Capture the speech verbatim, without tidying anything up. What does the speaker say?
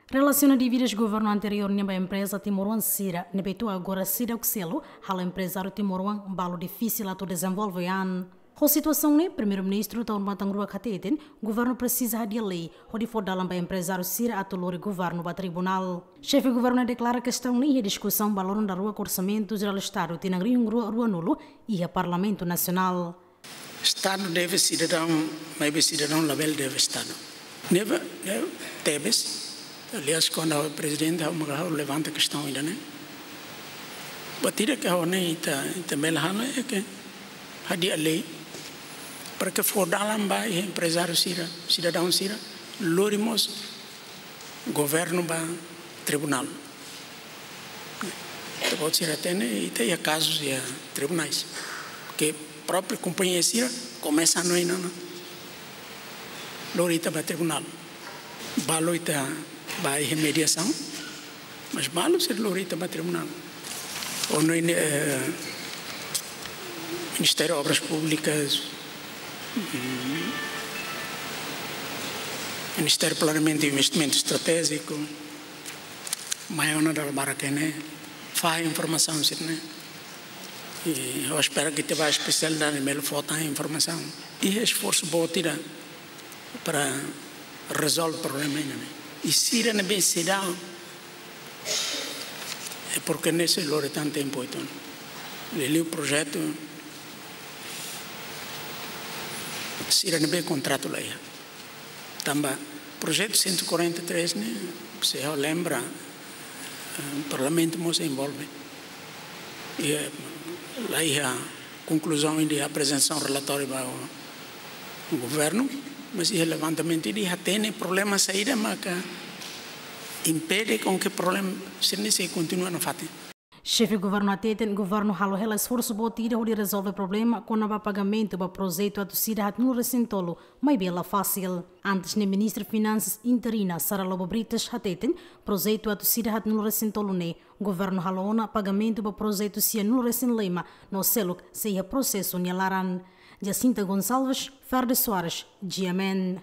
Relasiona dívidas governu anteriór nian ba empreza timoroan sira ne'ebé to'o agora seidauk selu, halo emprezáriu timoroan balu difisil atu dezenvolve an. Ho situasaun ne'e, Primeiru-Ministru Taur Matan Ruak hateten, governu presiza hadi'a lei hodi fó dalan ba emprezáriu sira atu lori governu ba tribunál. Xefe governu deklara kestaun ne'e iha diskusaun ba loron daruak Orsamentu Jerál Estadu tinan rihun rua ruanulu iha Parlamentu Nasionál. Estadu deve sidadaun, maibé sidadaun labele deve Estadu. Ne'ebé, ne'ebé tebes, aliás, kuandu ha'u prezidente, ha'u maka ha'u levanta kestaun ida-ne'e. Buat ida ke ha'u hanoin ita, ita bele halo é ke hadi'a lei para ke fó dalan ba iha emprezáriu sira, sidadaun sira, lori mós governu ba tribunál. Ita-boot sira hatene, ita iha kazus iha tribunais. Ke própriu kompañia sira komesa hanoin ona, lori ita ba tribunál. Balu ita ba iha mediasaun, mas balu sira lori ita ba tribunál. Ou no, eh, Ministériu Obras Públikas, mm, Ministériu Planeamentu i Investimentu Estratéjiku, mai ona dala barak iha ne'e, fahe informasaun sira-ne'e. I ha'u espera katak ita-boot espesiál ida-ne'e bele fó tan informasaun. I esforsu boot ida para rezolve problema ida-ne'e. I sira ne'ebé seidauk, é porke ne'e sei lori tan tempu uitoan. Liuliu projetu sira ne'ebé kontratu la iha. Tanba projetu cento e quarenta e três ne'e, se ha'u lembra, eh, Parlamentu mós envolve. I, eh, la iha konkluzaun de aprezentasaun relatóriu ba governu, mas iha levantamentu ida hatene problema saida maka impede com que problema sira-ne'e sei kontinua nafatin. Xefe governu hateten, governu halo hela esforsu boot ida hodi rezolve problema kona-ba pagamentu ba projetu atus ida haatnulu resin tolu, maibé la fasil. Antes ne'e Ministra Finansas interina Sara Lobo Brites hateten, projetu atus ida haatnulu resin tolu ne'e, governu halo ona pagamentu ba projetu sianulu resin lima, no seluk sei iha prosesu nia laran. Jacinta Gonçalves, Ferde Soares, G M N.